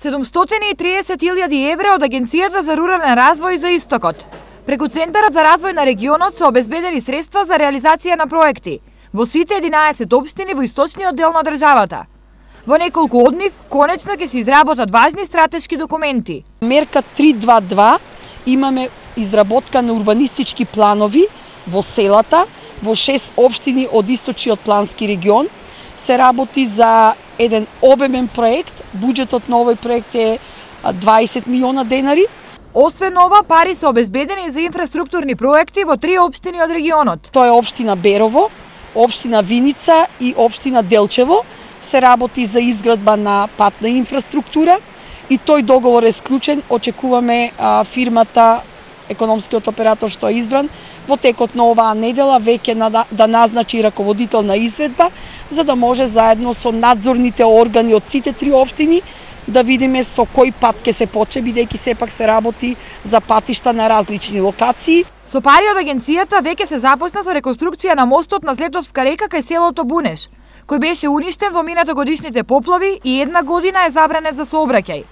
730.000 евра од Агенцијата за рурален развој за Истокот. Преку Центарот за развој на регионот се обезбедени средства за реализација на проекти во сите 11 општини во источниот дел на државата. Во неколку од нив конечно ќе се изработат важни стратешки документи. Мерка 322 имаме изработка на урбанистички планови во селата, во 6 општини од источниот плански регион. Се работи за еден обемен проект. Буџетот на овој проект е 20 милиона денари. Освен ова, пари се обезбедени за инфраструктурни проекти во 3 општини од регионот. Тоа е општина Берово, општина Виница и општина Делчево. Се работи за изградба на патна инфраструктура и тој договор е склучен. Очекуваме фирмата, економскиот оператор што е избран, во текот на оваа недела веќе да назначи раководител на изведба, за да може заедно со надзорните органи од сите 3 општини да видиме со кој пат ќе се почне, бидејќи сепак се работи за патишта на различни локации. Со пари од агенцијата веќе се започна со реконструкција на мостот на Злетовска река кај селото Бунеш, кој беше уништен во минатогодишните поплави и една година е забранет за сообраќај.